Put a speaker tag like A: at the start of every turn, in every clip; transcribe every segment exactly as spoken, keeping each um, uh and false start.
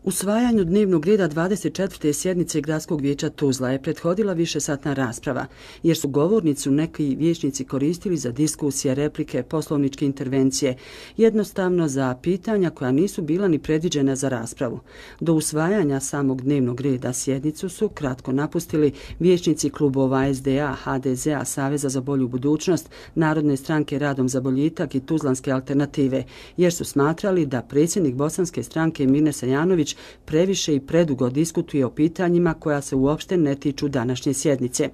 A: Usvajanju dnevnog reda dvadeset četvrte sjednice Gradskog vijeća Tuzla je prethodila višesatna rasprava, jer su govornicu neki vijećnici koristili za diskusije, replike, poslovničke intervencije, jednostavno za pitanja koja nisu bila ni predviđena za raspravu. Do usvajanja samog dnevnog reda sjednicu su kratko napustili vijećnici klubova es de a, ha de ze a, Saveza za bolju budućnost, Narodne stranke Radom za boljitak i Tuzlanske alternative, jer su smatrali da predsjednik bosanske stranke Mirne Sajanović previše i predugo diskutuje o pitanjima koja se uopšte ne tiču današnje sjednice.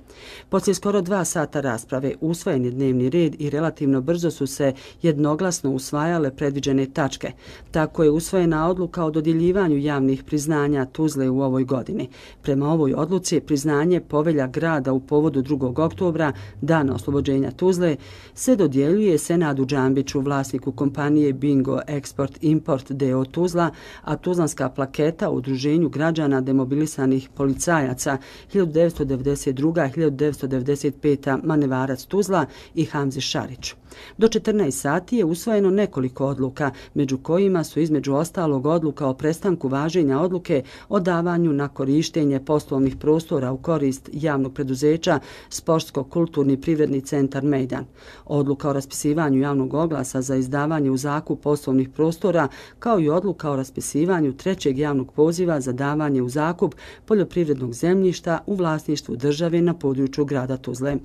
A: Poslije skoro dva sata rasprave usvojen je dnevni red i relativno brzo su se jednoglasno usvajale predviđene tačke. Tako je usvojena odluka o dodjeljivanju javnih priznanja Tuzle u ovoj godini. Prema ovoj odluci priznanje Povelja grada u povodu drugog oktobra, dana oslobođenja Tuzle, se dodjeljuje Senadu Džambiću, vlasniku kompanije Bingo Export Import d o o Tuzla, a tuzlanska plaketa u Udruženju građana demobilisanih policajaca hiljadu devetsto devedeset druga do hiljadu devetsto devedeset peta Manevarac Tuzla i Hamzi Šarić. Do četrnaest sati je usvojeno nekoliko odluka, među kojima su između ostalog odluka o prestanku važenja odluke o davanju na korištenje poslovnih prostora u korist javnog preduzeća Sportsko-kulturni privredni centar Mejdan, odluka o raspisivanju javnog oglasa za izdavanje u zakup poslovnih prostora, kao i odluka o raspisivanju trećeg javnog poziva za davanje u zakup poljoprivrednog zemljišta u vlasništvu države na području grada Tuzle.